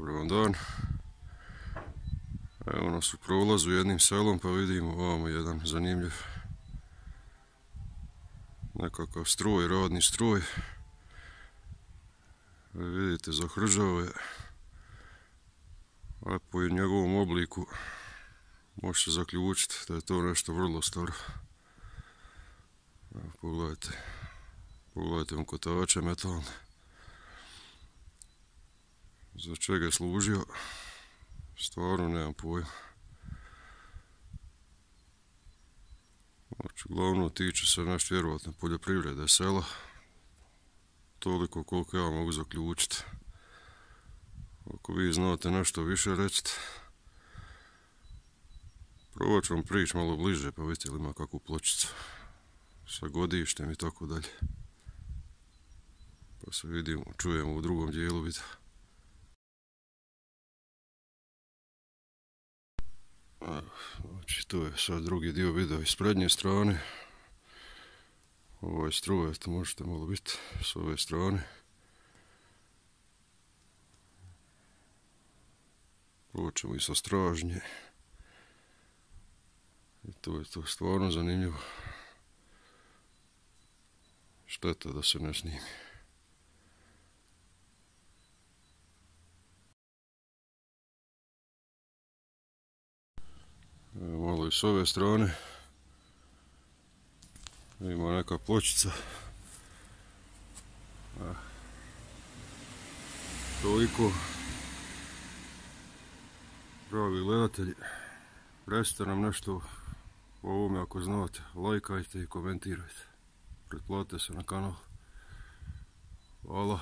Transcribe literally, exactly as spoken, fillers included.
Dobar vam dan. Evo nas u prolazu jednim selom pa vidimo ovamo jedan zanimljiv nekakav stroj, radni stroj. Vidite, zahrđao je, a po njegovom obliku može se zaključiti da je to nešto vrlo staro. Evo, pogledajte, pogledajte vam kotače metalne. Za čega je služio, stvarno nemam pojma. Znači, glavno tiče se naš vjerovatno poljoprivrede sela. Toliko koliko ja mogu zaključiti. Ako vi znate nešto više, recite. Probat ću vam prići malo bliže pa vidite li ima kakvu pločicu sa godištem i tako dalje. Pa se vidimo, čujemo u drugom dijelu videa. Znači, to je sad drugi dio videa iz prednje strane. Ovaj stroj, to možete malo biti s ove strane. Počemo i sa stražnje. I to je to stvarno zanimljivo. Šteta da se ne snimi. Evo malo i s ove strane. Ima neka pločica. Toliko. Pravi gledatelji, recite nam nešto o ovome ako znate. Lajkajte i komentirajte. Pretplatite se na kanal. Hvala.